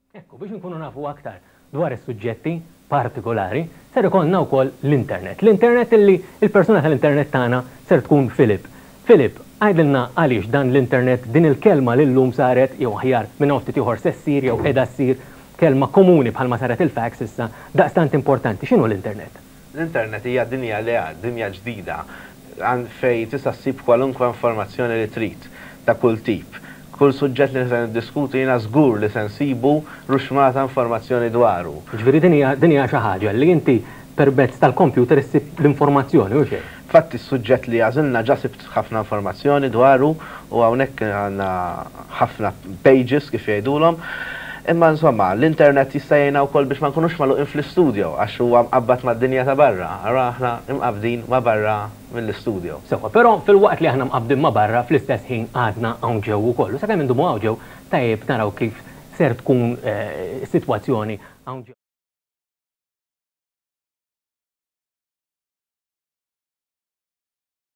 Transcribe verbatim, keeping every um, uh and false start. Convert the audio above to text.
Ekku, biex nkunu nafu aktar dwar is-suġġetti partikolari, ser ikollna wkoll l-internet. L-internet illi il-persuna tal-internet tagħna ser tkun Filip. Filip, għidilna għaliex dan l-internet, din il-kelma li llum saret, jew aħjar minn hawn ftit ieħor se ssir jew qiegħda ssir kelma komuni bħalma saret il-fax issa, daqstant importanti. X'inhu l-internet? L-internet hija dinja li dinja ġdida fejn tista' ssib kwalunkwe informazzjoni li trid ta' kull tip. Kull suġġett li se niddiskutu, jiena żgur li se nsibu ruxmata informazzjoni dwaru. Ġifieri din hija din hija xi ħaġa li inti permezz tal-computer issib l-informazzjoni, u xejn. Fatti, s-suġġett li għażilna ġa sibt ħafna informazzjoni dwaru u hawnhekk għandna ħafna pages, kif jgħidulhom. Imma insomma, l-internet jista' jgħinna wkoll biex ma nkunux magħluqin fl-istudio, għax huwa mqabbad mad-dinja ta' barra. Ara aħna imqabdin ma' barra mill-istudio. Sewwa, però filwaqt li aħna mqabbdin ma' barra, fl-istess ħin għadna hawn ġew ukoll. U sakemm indumu hawn ġew, tajjeb naraw kif ser tkun eh, sitwazzjoni hawn ġew.